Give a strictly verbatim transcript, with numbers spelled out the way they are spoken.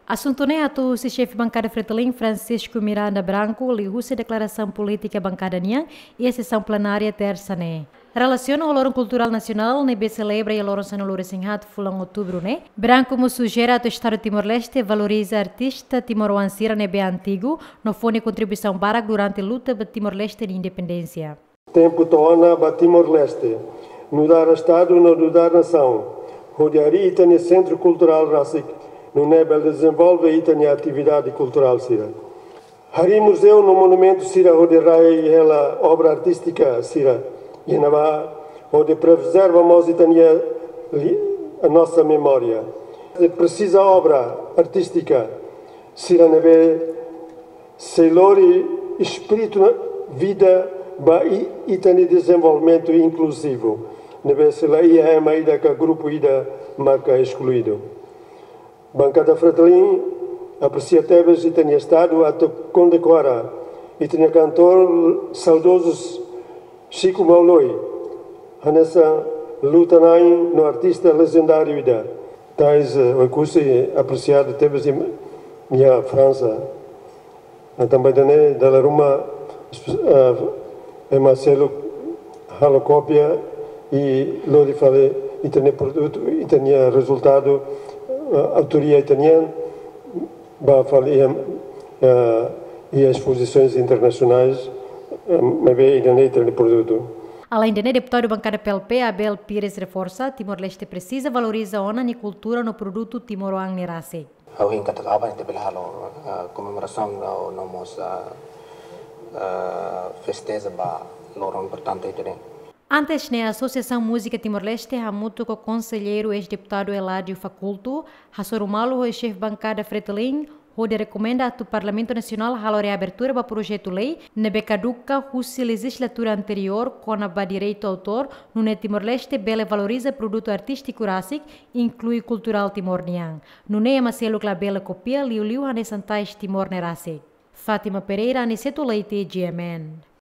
Asuntu ne'e hato'o husi xefe bankada Fretilin, Francisco Miranda Branco, liuhusi deklarasaun polítika bankada nian iha sesaun plenária tersa ne'e. Relasiona ho loron kulturál nasionál ne'ebé selebra iha loron sanulu-resin-haat fulan outubru ne'e, Branco mós sujere atu Estadu Timor-Leste valoriza artista timoroan sira ne'ebé antigu no fó nia kontribuisaun barak durante luta ba Timor-Leste nia independénsia. Tempu to'o ona ba Timor-Leste, nu'udar Estadu no nu'udar nasaun, hodi harii ita-nia sentru kulturál rasik, nune'e bele dezenvolve ita-nia atividade kulturál sira. Harii muzeu no monumentu sira hodi rai hela obra artístika sira iha ne'ebá, hodi prezerva mós ita-nia li-, a nossa memória. Presiza obra artístika sira ne'ebé sei lori espíritu no vida ba i-, ita-nia dezenvolvimentu inkluzivu, ne'ebé sei la iha ema ida ka grupu ida marka eskluídu. Bankada Fretilin apresia tebes ita-nia Estadu atu kondekora ita-nia kantór saudozu Chico Mauloi, hanesan luta-na'in no artista lejendáriu ida. Tais, eh, Oekusi apresiadu tebes iha, iha Fransa. Entaun ba ida-ne'e dala ruma, eh, ema seluk halo kópia i lori fali ita-nia produtu, ita-nia rezultadu, eh, autoria ita-nian, ba fali iha, eh, iha espozisaun internasionál, eh, maibé ida-ne'e ita-nia produtu. Alende ne'e, deputadu bankada P L P, Abel Pires reforsa, Timor-Leste presiza valoriza ona nia kultura no produtu timoroan ne'e rasik. Ha'u hein katak aban ita bele halo, ah, komemorasaun no mós, ah, ah, festeja ba loron importante ida-ne'e. Antes ne'e, Asosiasaun Múzika Timor-Leste hamutuk ho konselleiru eis-deputadu Eladio Faculto hasoru malu ho xefe bankada Fretilin, hodi rekomenda atu Parlamentu Nasionál halo reabertura ba projetu lei ne'ebé kaduka husi lejizlatura anteriór kona-ba direitu autór, nune'e Timor-Leste bele valoriza produtu artístiku rasik, inklui kulturál Timor nian. Nune'e ema seluk labele kopia liuliu hanesan tais Timor ne'e rasik. Fátima Pereira, Aniceto Leite, G M N.